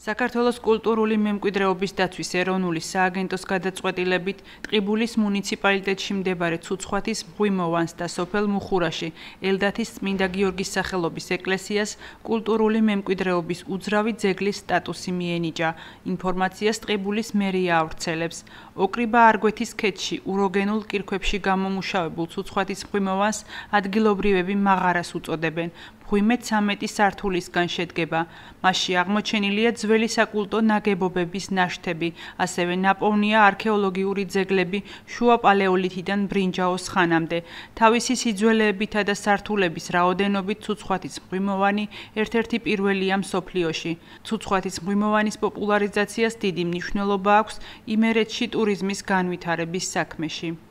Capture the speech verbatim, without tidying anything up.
საქართველოს კულტურული მემკვიდრეობის დაცვის ეროვნული სააგენტოს გადაწყვეტილებით ტყიბულის მუნიციპალიტეტში მდებარე ცუცხვათის მღვიმოვანს და სოფელ მუხურაში ელდათის წმინდა გიორგის სახელობის ეკლესიას კულტურული მემკვიდრეობის უძრავი ძეგლის სტატუსი მიენიჭა. ინფორმაციას ტყიბულის მერია ავრცელებს. ოკრიბა არგვეთის ქედში უროგენულ კირქვებში გამომუშავებულ ცუცხვათის მღვიმოვანს ადგილობრივები მაღარას უწოდებენ. მღვიმე ცამეტი სართულისგან შედგება. მასში აღმოჩენილია ძველი საკულტო ნაგებობების ნაშთები, ასევე ნაპოვნია არქეოლოგიური ძეგლები შუა პალეოლითიდან ბრინჯაოს ხანამდე. თავისი სიძველეებითა და სართულების რაოდენობით ცუცხვათის მღვიმოვანი ერთ-ერთი პირველია მსოფლიოში. ცუცხვათის მღვიმოვანის პოპულარიზაციას დიდი მნიშვნელობა აქვს იმერეთში ტურიზმის განვითარების საქმეში.